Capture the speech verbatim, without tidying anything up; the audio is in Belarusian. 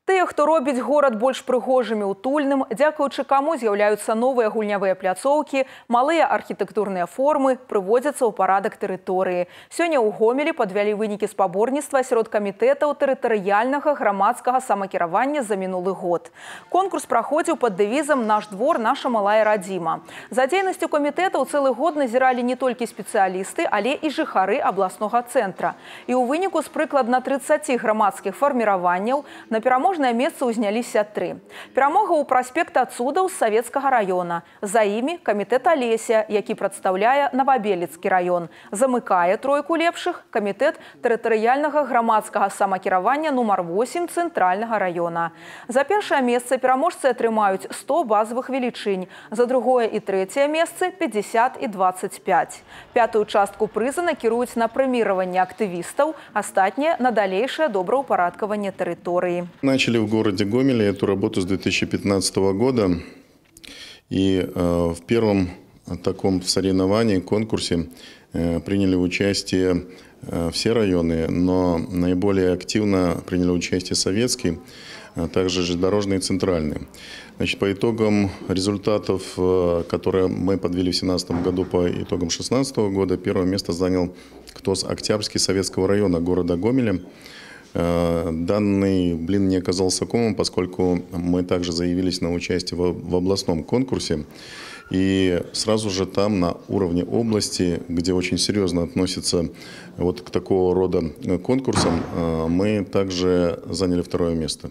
Тыя, хто робіць горад больш прыгожым і утульным, дзякуючы каму з'яўляюцца новыя гульнявыя пляцоўкі, малыя архітэктурныя формы, прыводзяцца ў парадак тэрыторыі. Сёння ў Гомелі падвялі вынікі спаборніцтва сярод камітэтаў тэрытарыяльнага грамадскага самакіравання за мінулы год. Конкурс праходзіў пад дэвізам «Наш двор, наша малая радзіма». За дзейнасцю камітэтаў цэлы год назіралі не толькі спецыялісты, але і жыхары абласнога цэнтра. І ў выніку з прыкладна трыццаці грамадскіх фарміраванняў на пераможнае месца ўзняліся тры. Перамога ў праспекта Цудаў з Савецкага раёна. За імі камітэт Алеся, які прадстаўляе Новабелецкі раён. Замыкае тройку лепшых камітэт тэрытарыяльнага грамадскага самакіравання нумар восем Цэнтральнага раёна. За першае месца пераможцы атрымаюць сто базавых велічынь, за другое і трэцяе месцы пятьдесят і двадцать пять. Пятую частку прыза накіруюць на прэміраванне актывістаў, астатняе на далейшае добраўпарадкаванне тэрыторыі. Начали в городе Гомеле эту работу с две тысячи пятнадцатого года. И э, в первом таком соревновании, конкурсе э, приняли участие э, все районы, но наиболее активно приняли участие Советский, а также железнодорожный и Центральный. Значит, по итогам результатов, э, которые мы подвели в две тысячи семнадцатом году по итогам две тысячи шестнадцатого года, первое место занял КТОС Октябрьский Советского района города Гомеля. Данный блин не оказался комом, поскольку мы также заявились на участие в областном конкурсе. И сразу же там, на уровне области, где очень серьезно относятся вот к такого рода конкурсам, мы также заняли второе место.